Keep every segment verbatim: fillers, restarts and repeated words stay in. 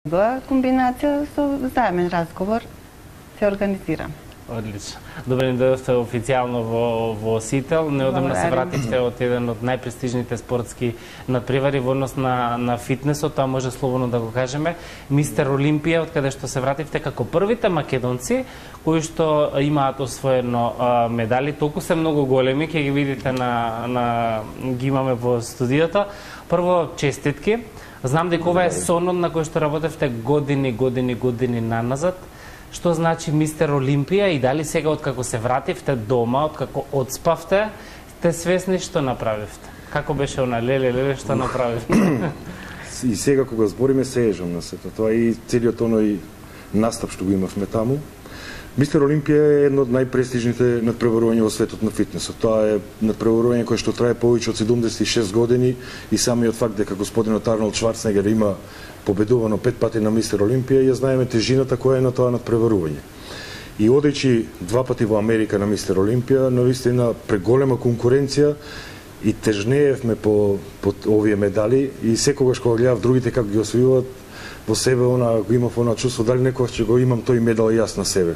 комбинација со заемен разговор се организирам. Одлично. Добре, не дојдовте официјално во, во Сител, неодамна се вративте од еден од најпрестижните спортски надпревари во однос на, на фитнесот, тоа може слободно да го кажеме. Мистер Олимпија, од каде што се вративте како првите македонци кои што имаат освоено а, медали, толку се многу големи, ќе ги видите на, на ги имаме во студиото. Прво, честитки. Знам дека ова е сонот на кој што работевте години, години, години наназад. Што значи Мистер Олимпија и дали сега откако се вративте дома, откако одспавте, сте свесни што направивте? Како беше она леле, леле, што направивте? И сега кога збориме се ежам на сето тоа и целиот оној настап што го имавме таму. Мистер Олимпија е едно од најпрестижните надпреварувања во светот на фитнесот. Тоа е надпреварување кое што трае повеќе од седумдесет и шест години и самиот факт дека господинот Арнолд Шварценегер има победувано пет пати на Мистер Олимпија, ја знаеме тежината која е на тоа надпреварување. И одејќи два пати во Америка на Мистер Олимпија, навистина преголема конкуренција и тежнеевме по, по овие медали и секогаш кога гледав другите како ги освојуваат, во себе она го имав она чувство дали некогаш ќе го имам тој медал јас на себе.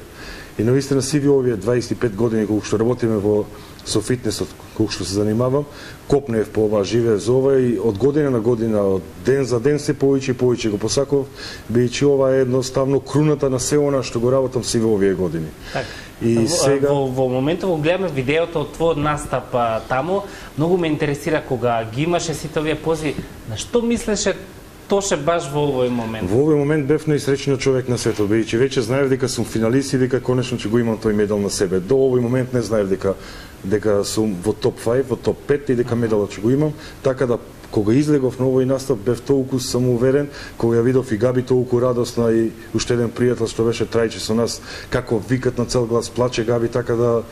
И навистина сиви овие дваесет и пет години кога што работиме во со фитнесот, кога што се занимавам, копнеев по ова, живеев за ова и од година на година, од ден за ден се повеќе и повеќе го посакував, бидејќи ова е едноставно круната на се она што го работам сиве овие години. Так. И во, сега во, во моментот во гледаме видеото од твојот настап а, таму, многу ме интересира кога ги имаше сите овие пози, на што мислеше Тоше баш во овој момент? Во овој момент бев најсреќниот човек на светот, бидејќи веќе знаев дека сум финалист и дека конечно ќе го имам тој медал на себе. До овој момент не знаев дека дека сум во топ пет, во топ пет и дека медалот ќе го имам, така да кога излегов на овој настап бев толку самоуверен, кога ја видов и Габи толку радосна и уште еден пријател што беше Трајче со нас, како викат на цел глас, плаче Габи, така да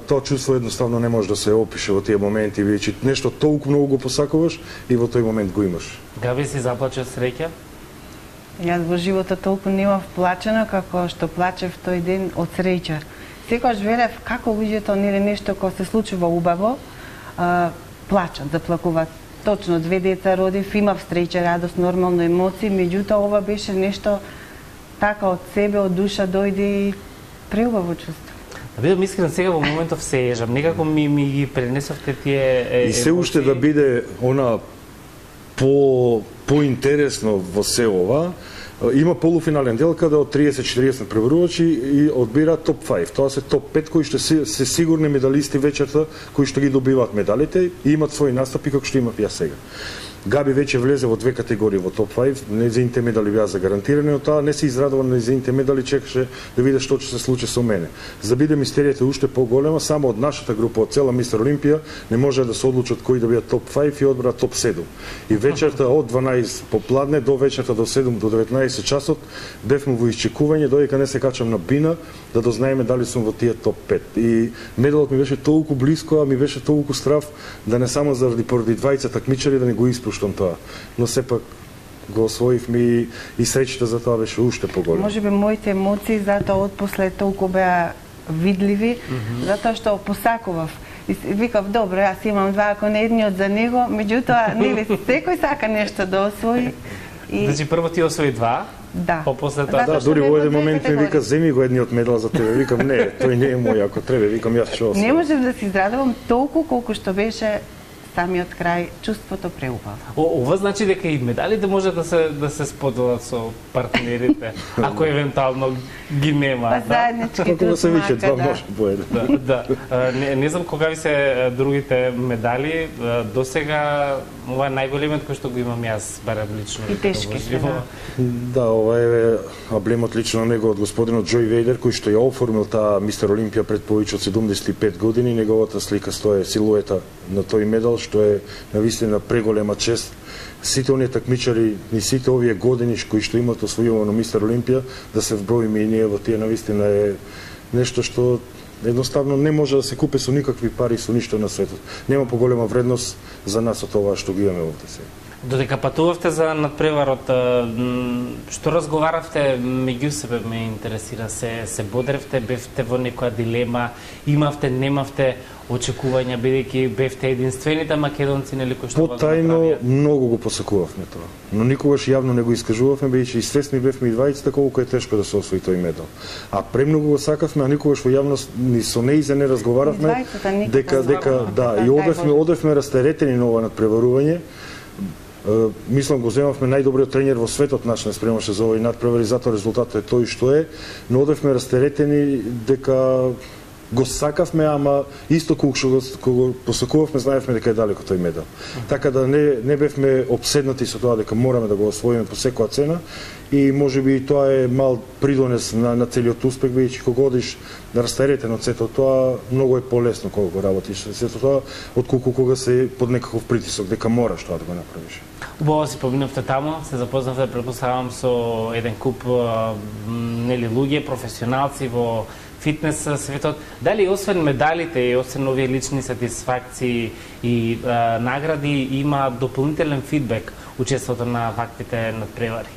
тоа чувство едноставно не може да се опише во тие моменти, бидејќи нешто толку многу го посакуваш и во тој момент го имаш. Габи, си заплаче од среќа? Јас во животот толку немав плачено како што плачев тој ден од среќа. Секогаш верев како луѓето нели нешто кога се случува убаво, а, плачат, заплакуваат. Точно, две деца родив, имав среќа, радост, нормално емоции, меѓутоа ова беше нешто така од себе, од душа дојде и преубаво чувство. Да бидам искрен, сега во моментов се ежам, некако ми, ми ги пренесовте тие е, и се уште да биде она по поинтересно во се ова, има полуфинален дел каде од триесет четириесет преборувачи и одбира топ пет. Тоа се топ пет кои што се, се сигурни медалисти вечерта, кои што ги добиваат медалите и имат своји настапи како што имав јас сега. Габи веќе влезе во две категории во топ пет, нејзините медали беа загарантирани, од тоа не се израдува на нејзините медали, чекаше да види што ќе се случи со мене. За да биде мистеријата уште поголема, само од нашата група, од цела Мистер Олимпија, не може да се одлучат кои да бидат топ пет и одбрат топ седум. И вечерта од дванаесет попладне до вечерта до седум до деветнаесет часот бевме во исчекување додека не се качам на бина да дознаеме дали сум во тие топ пет. И медалот ми беше толку блиско, а ми беше толку страв да не само заради поради двајца такмичари да не го испуштам тоа. Но сепак го освоивме и, и среќата за тоа беше уште поголема. Можеби моите емоции затоа отпосле толку беа видливи, mm -hmm. затоа што посакував. И викав, добро, јас имам два, ако не едниот за него, меѓутоа, нели, секој сака нешто да освои. И... Значи, прво ти освои два, да. Попосле тоа... Да, дури во еден момент ми вика, земи го едниот медал за тебе. Викам, не, тој не е мој, ако треба, викам, јас ќе освои. Не можев да се израдувам толку колку што беше самиот крај, чувството преубаво. Ова значи дека и медалите може да се да се споделат со партнерите, ако евентуално ги нема, па, да? Заеднички Како да се виќе два може по еден. Да, да. Не, не знам кога ви се другите медали, досега ова е најголемиот кој што го имам јас, барем лично. И тешки се, да. Да, ова е аблемот лично на него од господинот Џој Вејдер, кој што ја оформил таа Мистер Олимпија пред повеќе од седумдесет и пет години, неговата слика стои силуета на тој медал, што е навистина преголема чест. Сите оние такмичари, ни сите овие години кои што имаат освојувано Мистер Олимпија, да се вброиме и ние во тие, навистина е нешто што едноставно не може да се купи со никакви пари, со ништо на светот. Нема поголема вредност за нас од тоа што ги имаме овде сега. Додека патувавте за надпреварот, што разговаравте меѓу себе, ме интересира, се се бодревте, бевте во некоја дилема, имавте, немавте очекувања, бидејќи бевте единствените македонци, нели, кои што го Потајно многу го посакувавме тоа, но никогаш јавно не го искажувавме, бидејќи свесни бевме и двајцата колку е тешко да се освои тој медал. А премногу го сакавме, а никогаш во јавност ни со неизе не разговаравме дека дека да, и одевме одевме растеретени на ова надпреварување. Мислам го земавме најдобриот тренер во светот наш не спремаше за овој надпревар и затоа резултатот е тој што е, но одевме растеретени дека го сакавме, ама исто кога што го посакувавме, знаевме дека е далеко тој медал. Така да не не бевме обседнати со тоа дека мораме да го освоиме по секоја цена и можеби и тоа е мал придонес на, на целиот успех, бидејќи кога одиш да растеретен од сето тоа, многу е полесно кога го работиш сето тоа, отколку кога се под некаков притисок дека мораш тоа да го направиш. Убаво си поминавте таму, се запознавте, предпоставам, со еден куп нели луѓе, професионалци во фитнес светот. Дали освен медалите и освен овие лични сатисфакции и а, награди има дополнителен фидбек учеството на ваквите надпревари?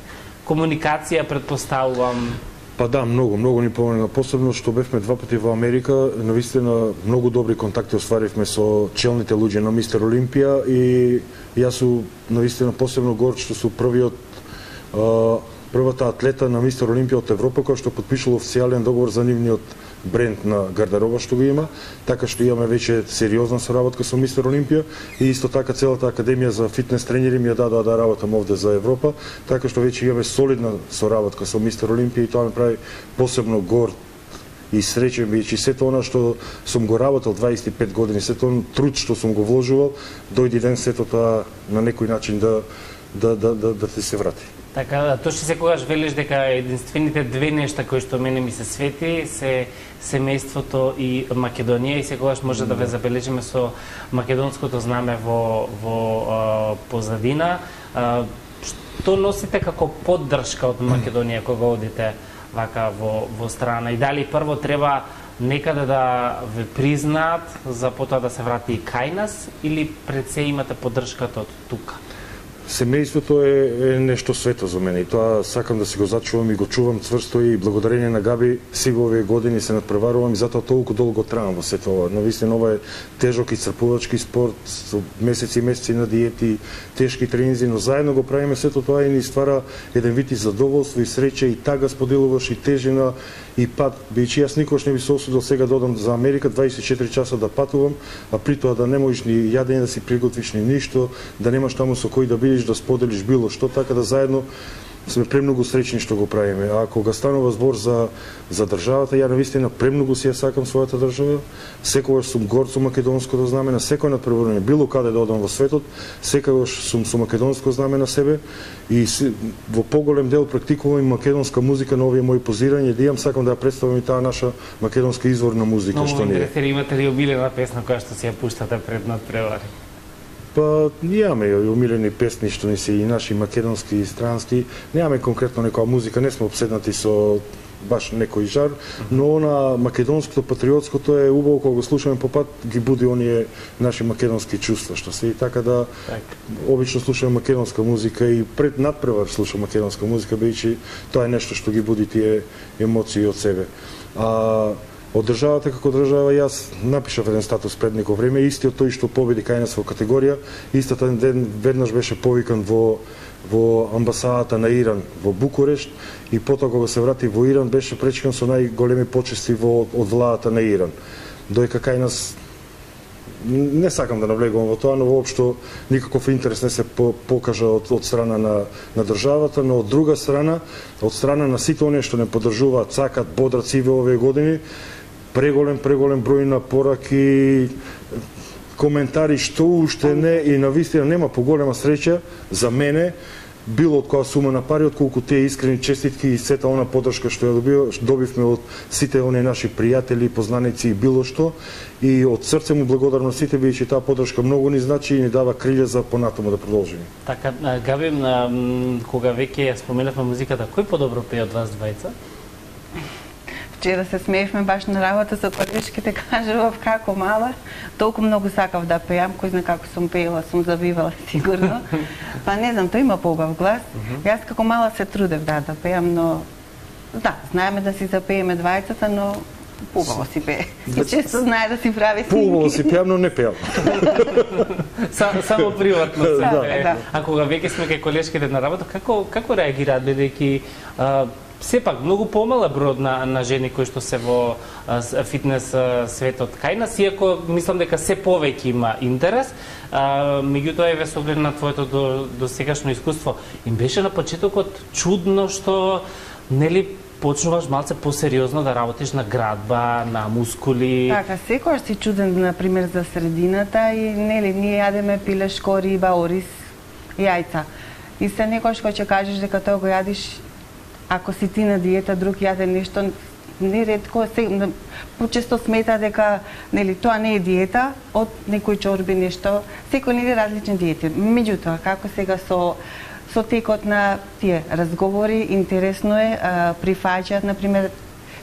Комуникација, предпоставувам. Па да, многу, многу ни помогна, посебно што бевме два пати во Америка, навистина многу добри контакти остваривме со челните луѓе на Мистер Олимпија и јас су навистина посебно горд што су првиот а, првата атлета на Мистер Олимпија од Европа која што потпишала официјален договор за нивниот бренд на гардероба што го има, така што имаме веќе сериозна соработка со Мистер Олимпија и исто така целата академија за фитнес тренери ми ја дадоа да работам овде за Европа, така што веќе имаме солидна соработка со Мистер Олимпија и тоа ме прави посебно горд и среќен, бидејќи сето она што сум го работел дваесет и пет години, сето он труд што сум го вложувал, дојде ден сето тоа на некој начин да да да да, да ти се врати. Така, точно секогаш велиш дека единствените две нешта кои што мене ми се свети се семејството и Македонија и секогаш може да ве забележиме со македонското знаме во во а, позадина. А, што носите како поддршка од Македонија кога одите вака во во страна и дали прво треба некаде да ве признаат за потоа да се врати и кај нас или пред се имате поддршката од тука? Семејството е, е нешто свето за мене и тоа сакам да си го зачувам и го чувам цврсто и благодарение на Габи сигурно овие години се надпреварувам и затоа толку долго траам во сето ова. Навистина ова е тежок и црпувачки спорт со месеци и месеци на диети, тешки тренинзи, но заедно го правиме сето тоа и ни ствара еден вид и задоволство и среќа и тага споделуваш и тежина и пат, бидејќи јас никош не би се осудил сега да одам за Америка дваесет и четири часа да патувам, а при тоа да не можеш ни јадење да си приготвиш ни ништо, да немаш таму со кој да бидеш, да споделиш било што, така да заедно сме премногу среќни што го правиме. А кога станува збор за за државата, ја навистина премногу си ја сакам својата држава. Секогаш сум горд со македонското знаме на секој надпреварување, било каде да одам во светот, секогаш сум со македонско знаме на себе и си, во поголем дел практикувам и македонска музика на овие мои позирања, да имам сакам да ја представам и таа наша македонска изворна музика. Но, што не е. интересира, имате ли омилена песна која што си ја пуштате пред надпревари? Па имаме и омилени песни што ни се и наши македонски и странски. Немаме конкретно некоја музика, не сме обседнати со баш некој жар, но она македонското, патриотското е убаво кога го слушаме по пат, ги буди оние наши македонски чувства што се и така да так. Обично слушаме македонска музика и пред надпревар слушам македонска музика, бидејќи тоа е нешто што ги буди тие емоции од себе. А од државата како држава јас напишав еден статус пред неко време, истиот тој што победи кај нас во категорија, истата ден веднаш беше повикан во во амбасадата на Иран во Букурешт и потоа кога се врати во Иран беше пречкан со најголеми почести во од владата на Иран. Доека кај нас не сакам да навлегувам во тоа, но воопшто никаков интерес не се покажа од, од страна на, на државата, но од друга страна, од страна на сите оние што не поддржуваат, сакат, бодрат сиве овие години, преголем, преголем број на пораки, коментари што уште не и навистина нема поголема среќа за мене било од која сума на пари отколку тие искрени честитки и сета она поддршка што ја добивме од сите оние наши пријатели, познаници и било што и од срце му благодарам на сите бидејќи таа поддршка многу ни значи и ни дава крилја за понатаму да продолжиме. Така, Габи, кога веќе ја споменавме музиката, кој подобро пее од вас двајца? вчера се смеевме баш на работа со колешките, кажував како мала, толку многу сакав да пеам, кој знае како сум пеела, сум завивала сигурно. Па не знам, тој има поубав глас. Јас како мала се трудев да да пеам, но да, знаеме да си запееме двајцата, но поубаво си пее. И често знае да си прави снимки. Поубаво си пеам, но не пеам. Само приватно се да, пее. да. А кога веќе сме кај колешките на работа, како како реагираат, бидејќи сепак многу помале бројот на на жени кои што се во а, фитнес а, светот кај нас, иако мислам дека се повеќе има интерес, а, меѓутоа еве со оглед на твоето до, до сегашно искуство, им беше на почетокот чудно што нели почнуваш малце посериозно да работиш на градба, на мускули. Така, секогаш си чуден, например, за средината и нели ние јадеме пилешко, риба, ориз, јајца. И се некојаш кој ќе кажеш дека тоа го јадиш, ако си ти на диета, друг јаде нешто, неретко се почесто смета дека нели тоа не е диета, од некој чорби нешто, секој нели различни диети. Меѓутоа, како сега со со текот на тие разговори, интересно е, а, прифаќаат, например,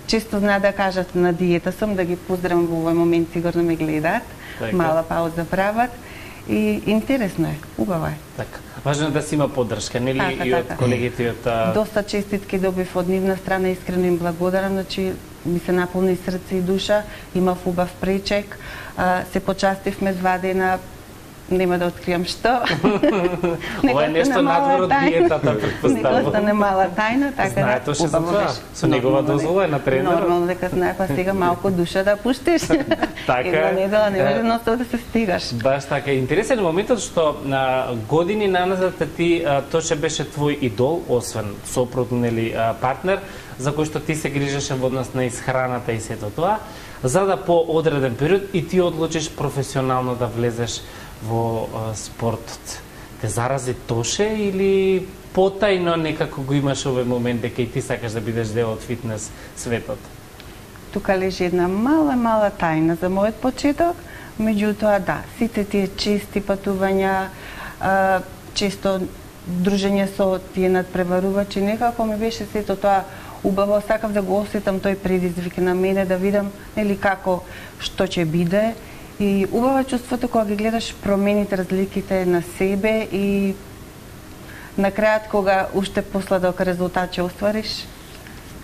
често знаат да кажат на диета сум, да ги поздравам во овој момент, сигурно ме гледаат, така. Мала пауза прават и интересно е, убаво е. Така. Важно е да си има поддршка, нели, така, и од така. колегите и од а... Доста честитки добив од нивна страна, искрено им благодарам, значи ми се наполни срце и душа, имав убав пречек, а, се почастивме два дена, нема да откриам што. Ова е нешто надвор од диетата, претпоставувам. Некој остане мала тајна, така знае да точно за тоа. Со негова дозвола е на тренерот. Нормално дека знае, па сега малку душа да пуштиш. Така Една е. недела не може носно да се стигаш. Баш така. Интересен е моментот што на години наназад ти а, тоа беше твој идол, освен сопруг, нели, а, партнер, за кој што ти се грижеше во однос на исхраната и сето тоа, за да по одреден период и ти одлучиш професионално да влезеш во а, спортот. Те зарази тоше или потајно некако го имаш овој момент дека и ти сакаш да бидеш дел од фитнес светот? Тука лежи една мала, мала тајна за мојот почеток, меѓутоа да, сите тие чести патувања, а, често дружење со тие надпреварувачи, некако ми беше сето тоа убаво, сакав да го осетам тој предизвик на мене, да видам нели како што ќе биде. И убаво чувството кога ги гледаш промените, разликите на себе и на крајот кога уште посладок резултат ќе оствариш,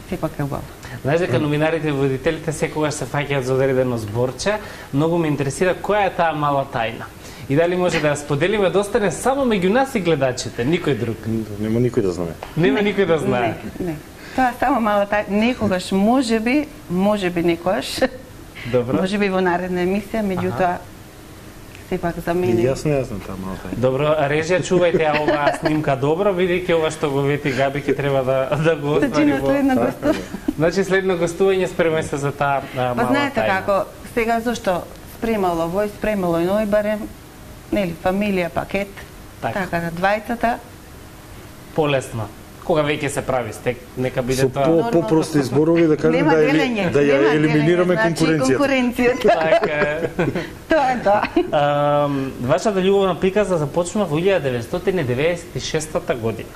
сепак е убаво. Знаеш дека новинарите и водителите секогаш се фаќаат за одредено зборче, многу ме интересира која е таа мала тајна. И дали може да ја споделиме да остане само меѓу нас и гледачите, никој друг. Нема никој да знае. Нема никој да знае. Не, не. Тоа е само мала тајна. Некогаш можеби, можеби некогаш. Добро. Може би во наредна емисија, меѓутоа сепак за И мене. јас не јаснам таа мала тајна. Добро, режија, чувајте ја оваа снимка добро, бидејќи ова што го вети Габи ќе треба да да го Значи оствари на во. следно гостување. Значи следно гостување спремај се за таа а, Па мала знаете тајна. како, сега зашто спремало вој, спремало и ној, барем, нели, фамилија, пакет, Така. така да двајцата. Полесно. Кога веќе се прави стек, нека биде Со тоа. по попрости зборови да кажем Нема да, ели, делење, да ја нема елиминираме делење, значи конкуренцијата. конкуренцијата. Така е. Тоа е тоа. Ам, Вашата љубовна приказна започнува во илјада деветстотини деветдесет и шеста година.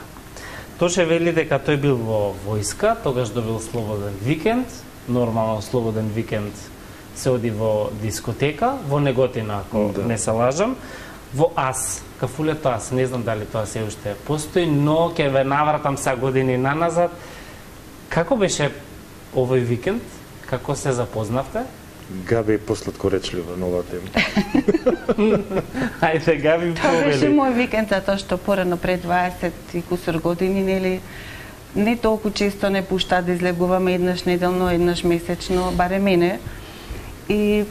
Тоше вели дека тој бил во војска, тогаш добил слободен викенд, нормално слободен викенд се оди во дискотека, во Неготина, ако Да. не се лажам, во Ас, кафулето Ас, не знам дали тоа се уште постои, но ќе ве навратам са години наназад. Како беше овој викенд? Како се запознавте? Габи е посладкоречлива на оваа тема. Ајде, Габи, Тоа беше повели. мој викенд, затоа што порано пред дваесет и кусур години, нели, не толку често не пушта да излегуваме еднаш неделно, еднаш месечно, баре мене. И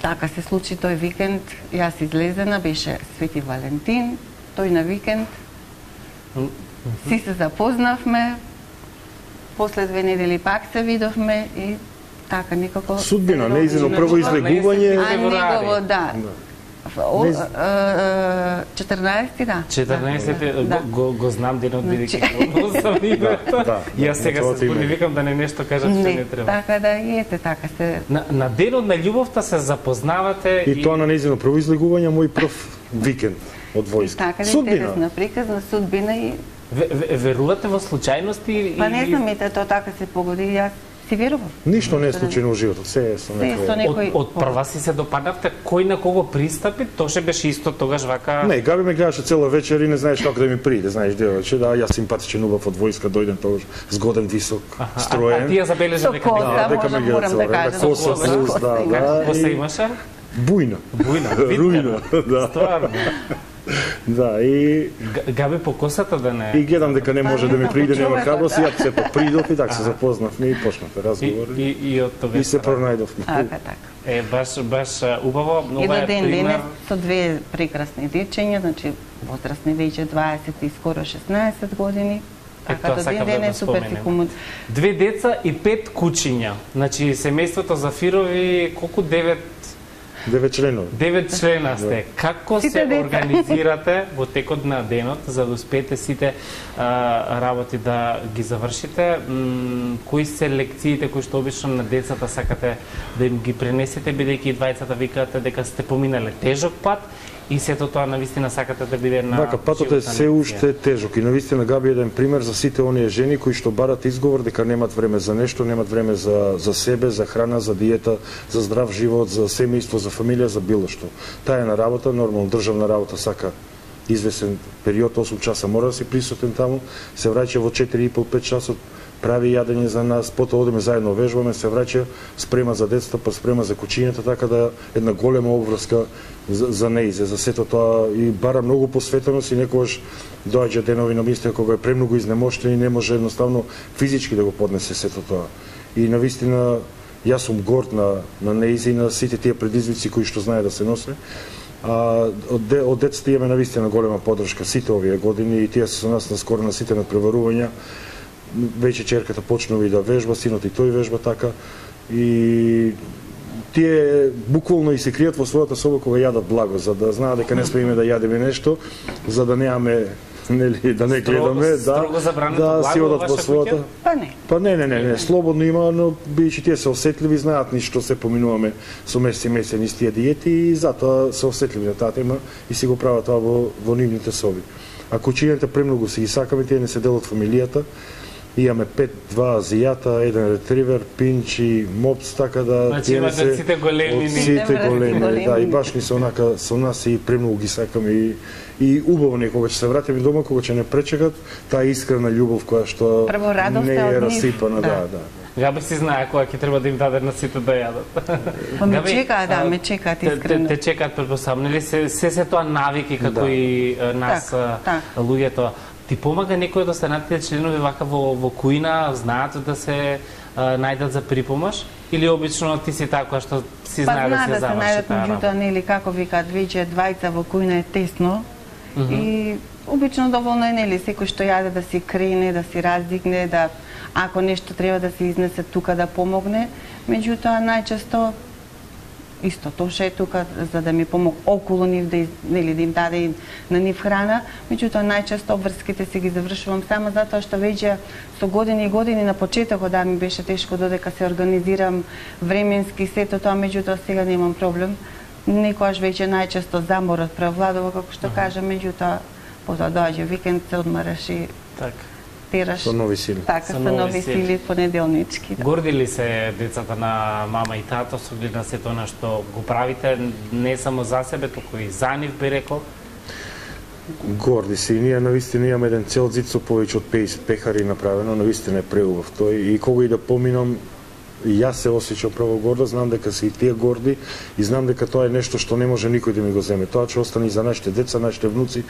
така се случи тој викенд, јас излезена, беше Свети Валентин, тој на викенд, си се запознавме, после две недели пак се видовме и така некако... Судбина, се неизино роди. прво излегување. А негово, да. О, Не з- а, четрнаесети, да. четрнаесети, Да. го, го, го знам денот, Значи- бидејќи го сам името. Да, да, Јас сега тоа се ти има. збуни, викам да не нешто кажат што Не, не треба. така да и ете, така се... На, на денот на љубовта се запознавате И тоа на неизино прво излегување, мој прв викенд од војска. Така да Судбина. интересна приказна, судбина и... Ве- ве- верувате во случајности? Па не или- знам, ете, тоа така се погоди. Јас Си верувам. Ништо не е случајно во животот, се е со некој. Од, од прва си се допадавте, кој на кого пристапи, тоше беше исто тогаш вака. Не, Габи ме гледаше цела вечер и не знаеш како да ми приде, знаеш девојче, да, јас симпатичен убав од војска, дојден тогаш згоден, висок, строен. А, а ти ја забележа дека да, дека ме гледа цела време, коса плюс, да, да. Коса имаше? Бујна. Бујна, рујна, да. Стварно. Да, и Габи по косата да не. И гледам дека не може да ми приде, нема храброст, и ја се попридов и така се запознавме и почнавме разговори. И, и, и од тоа и се пронајдовме. Така, така. Е, баш, баш убаво. И до ден денес со две прекрасни дечења, значи возрастни веќе дваесет и скоро шеснаесет години. Така до ден денес супер си комун. Две деца и пет кучиња. Значи семејството Зафирови колку девет Девет членови. Девет члена сте. Како се организирате во текот на денот за да успеете сите а, работи да ги завршите? М, кои се лекциите кои што обично на децата сакате да им ги пренесете, бидејќи и двајцата викате дека сте поминале тежок пат и сето тоа навистина сакате да биде на Вака, патот е се уште тежок и навистина Габи е еден пример за сите оние жени кои што барат изговор дека немат време за нешто, немат време за, за себе, за храна, за диета, за здрав живот, за семејство, за фамилија, за било што. Таа е на работа, нормално државна работа сака извесен период, осум часа мора да си присутен таму, се враќа во четири и пол до пет часот, прави јадење за нас, потоа одиме заедно вежбаме, се враќа, спрема за децата, па спрема за кучињата, така да една голема обврска за, за неизе, за сето тоа и бара многу посветеност и некогаш доаѓа денови на мисля кога е премногу изнемоштен и не може едноставно физички да го поднесе сето тоа. И навистина јас сум горд на на неизе и на сите тие предизвици кои што знае да се носе. А од, де, од децата имаме навистина голема поддршка сите овие години и тие се со нас наскоро на сите надпреварувања. Веќе черката почнува и да вежба, синот и тој вежба така. И тие буквално и се кријат во својата соба кога јадат благо, за да знаат дека не смееме да јадеме нешто, за да немаме нели да не гледаме, да, да си одат во својата. Па не. Па не, не, не, не, слободно има, но бидејќи тие се осетливи, знаат ни што се поминуваме со месеци и месеци низ тие диети и затоа се осетливи на таа тема и си го прават тоа во во нивните соби. А кучињата премногу си ги сакаме, тие не се дел од фамилијата. Имаме пет, два азијата, еден ретривер, пинч и мопс, така да значи имате сите големи, сите големи, да, и баш ни се онака со нас и премногу ги сакаме и и убаво некога ќе се вратиме дома, кога ќе не пречекат таа искрена љубов која што не е расипана, да, да. Габи си знае кога ќе треба да им даде на сите да јадат. Па ме чекаат, да, ме чекаат искрено. Те, те чекаат предпоставно, нели се се се тоа навики како и нас луѓето. Ти помага некој од останатите членови вака во во кујна, знаат да се а, најдат за припомаш или обично ти си така што си знае да се заврши таа работа? Па знае да се најдат, меѓутоа нели како викаат веќе двајца во кујна е тесно mm -hmm. и обично доволно е нели секој што јаде да си крене, да си раздигне, да ако нешто треба да се изнесе тука да помогне, меѓутоа најчесто исто Тоша е тука за да ми помог околу нив да, нели, да им даде и на нив храна, меѓутоа најчесто обврските си ги завршувам само затоа што веќе со години и години на почетокот да ми беше тешко додека се организирам временски сето тоа, меѓутоа сега немам проблем. Некојаш веќе најчесто заморот превладува како што кажам, меѓутоа потоа доаѓа викенд, се одмараш и така. Тераш, со нови сили. Така, со, со нови, нови сили, сили понеделнички. Да. Горди ли се децата на мама и тато со глед на сето на што го правите, не само за себе, туку и за нив, би рекол? Горди се и ние навистина имаме еден цел зид со повеќе од пеесет пехари направено, навистина е преубав тој и кога и да поминам и јас се осеќам право горда, знам дека се и тие горди и знам дека тоа е нешто што не може никој да ми го земе. Тоа ќе остане и за нашите деца, нашите внуци,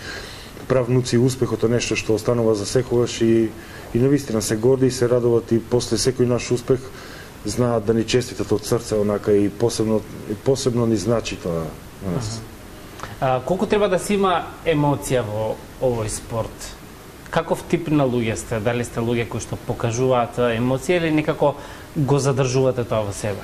правнуци, успехот е нешто што останува за секогаш и и навистина се горди и се радуват и после секој наш успех знаат да ни честитат од срце онака и посебно и посебно ни значи тоа на нас. А, колку треба да се има емоција во овој спорт? Каков тип на луѓе сте? Дали сте луѓе кои што покажуваат емоција или некако го задржувате тоа во себе?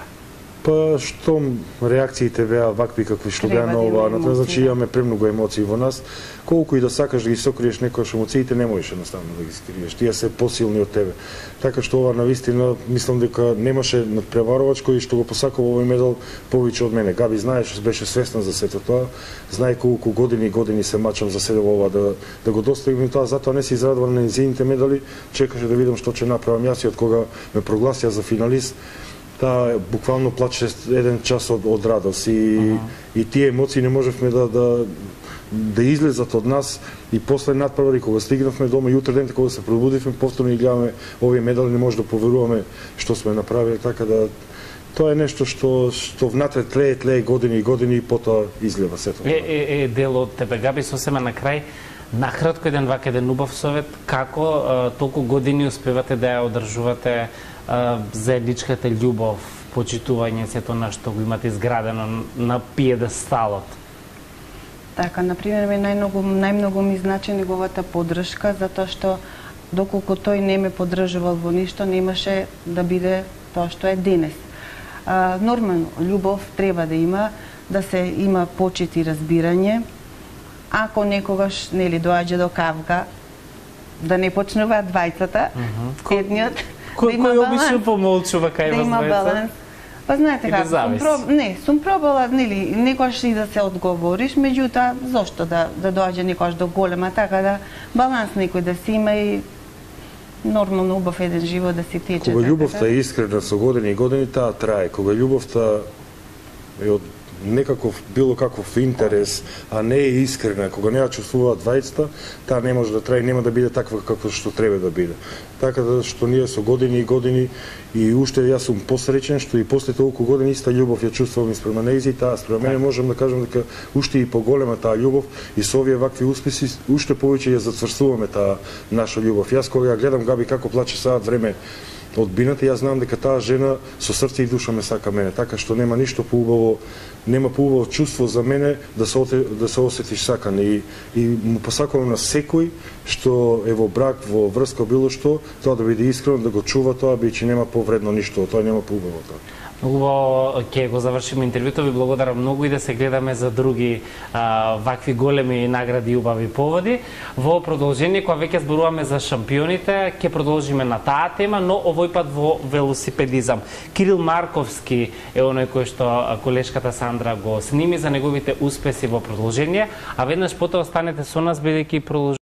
Па што реакциите беа вакви какви што беа на ова, на тоа значи имаме премногу емоции во нас. Колку и да сакаш да ги сокриеш некојаш емоциите, не можеш едноставно да ги скриеш. Тие се посилни од тебе. Така што ова навистина мислам дека немаше надпреварувачко и што го посакува овој медал повеќе од мене. Габи знаеш, беше свесна за сето тоа. Знае колку години и години се мачам за седо ова да да го достигнем тоа, затоа не се израдувам на незините медали. Чекаше да видам што ќе направам јас и од кога ме прогласија за финалист. Таа буквално плаче еден час од, од радост и, uh-huh. и тие емоции не можевме да, да, да излезат од нас и после надпревари кога стигнавме дома и утре ден кога се пробудивме повторно и гледаме овие медали, не може да поверуваме што сме направили, така да тоа е нешто што што внатре тлее, тлее години и години и потоа излева сето. Е, е, е дел од тебе, Габи, сосема на крај, накратко еден вак еден убав совет, како а, толку години успевате да ја одржувате заедничката љубов, почитување, сето на што го имате изградено на пиедесталот? Така, например, најмногу најмногу ми значи неговата поддршка, затоа што доколку тој не ме поддржувал во ништо, немаше да биде тоа што е денес. А, нормално, љубов треба да има, да се има почит и разбирање. Ако некогаш нели доаѓа до кавга, да не почнуваат двајцата, uh-huh. едниот Кој да кој обично помолчува кај вас двајца? Да има баланс. Па знаете како, сум проб... не, сум пробала, нели, некојаш и да се одговориш, меѓутоа зошто да да доаѓа некојаш до голема, така да баланс некој да си има и нормално убав еден живот да си тече. Кога љубовта е искрена со години и години, таа трае. Кога љубовта е од некаков било каков интерес, а не е искрена, кога не ја чувствуваат двајцата, таа не може да трае, нема да биде таква како што треба да биде. Така да што ние со години и години и уште јас сум посреќен што и после толку години иста љубов ја чувствувам и спрема нејзи, таа спрема мене можам да кажам дека уште и поголема таа љубов и со овие вакви успеси уште повеќе ја зацврстуваме таа наша љубов. Јас кога ја гледам Габи како плаче саат време од бината, јас знам дека таа жена со срце и душа ме сака мене, така што нема ништо поубаво, нема поубаво чувство за мене да се да се осетиш сакан и и му посакувам на секој што е во брак, во врска било што, тоа да биде искрено, да го чува тоа, бидејќи нема повредно ништо, тоа нема поубаво тоа. Убаво ќе го завршиме интервјуто, ви благодарам многу и да се гледаме за други а, вакви големи награди и убави поводи. Во продолжение, кога веќе зборуваме за шампионите, ќе продолжиме на таа тема, но овој пат во велосипедизам. Кирил Марковски е оној кој што колешката Сандра го сними за неговите успеси во продолжение, а веднаш потоа останете со нас бидејќи продолжуваме